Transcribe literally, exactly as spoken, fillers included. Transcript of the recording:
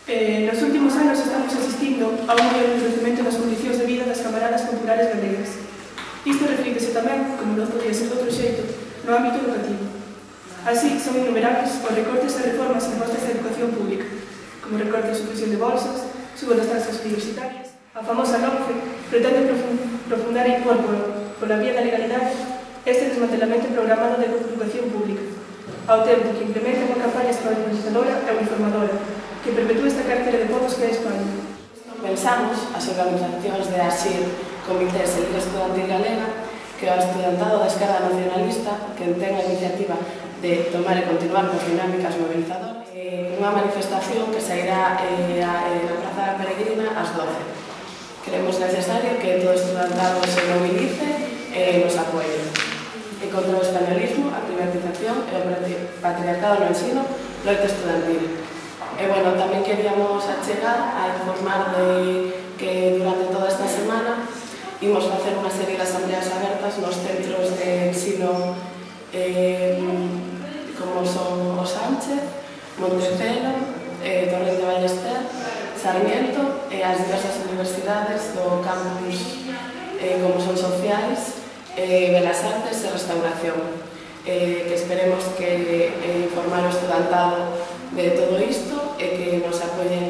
Eh, nos últimos anos estamos asistindo a un mellor endurecemento das condicións de vida das camaradas populares galegas. Isto reflítese tamén, como non podía ser de outro xeito, no ámbito educativo. Así, son innumerables os recortes e reformas impostas á educación pública, como recorte de supresión de bolsas, suba das taxas universitarias, a famosa LOMCE pretende profundar e impor pola vía da legalidade este desmantelamento programado da educación pública, ao tempo que implementa unha campaña escolarizadora e uniformadora que perpetúa esta cartera de povos que é España. Pensamos as organizacións de ASIR, Comités e Liga Estudantil Galega, que o estudantado da esquerda nacionalista, que ten a iniciativa de tomar e continuar con dinámicas movilizadoras, eh, unha manifestación que sairá eh, a, eh, na Praza da Peregrina ás doce. Creemos necesario que todo estudantado se movilice e nos apoie. E contra o españolismo, a privatización e o patriarcado no ensino, loita estudantil. E, bueno, tamén queríamos achegar a informar de que durante toda esta semana imos facer unha serie de asambleas abertas nos centros de ensino eh, como son o Sánchez, Montecelo, eh, Torrente de Ballester, Sarmiento e as diversas universidades do campus eh, como son Sociais, eh, Belas Artes e Restauración. Eh, que esperemos que eh, informar o estudantado de todo isto e que nos apoyen